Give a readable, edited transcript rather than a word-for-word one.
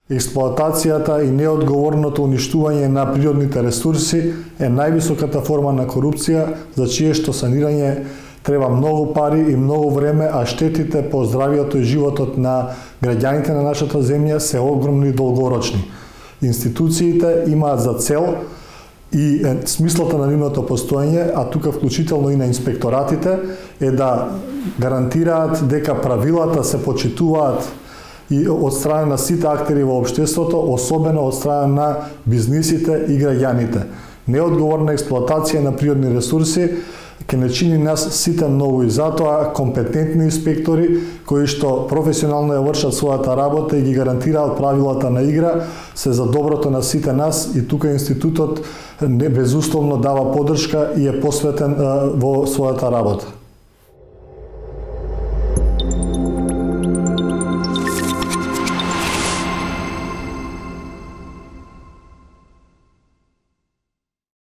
Експлоатацијата и неодговорното уништување на природните ресурси е највисоката форма на корупција, за чие што санирање треба многу пари и многу време, а штетите по здравието и животот на граѓаните на нашата земја се огромни и долгорочни. Институциите имаат за цел и смислата на нивното постоење, а тука вклучително и на инспекторатите, е да гарантираат дека правилата се почитуваат и од страна на сите актери во општеството, особено од страна на бизнисите и граѓаните. Неодговорна експлоатација на природни ресурси ќе не чини нас сите многу и затоа компетентни инспектори кои што професионално ја вршат својата работа и ги гарантираат правилата на игра се за доброто на сите нас и тука институтот безусловно дава поддршка и е посветен во својата работа.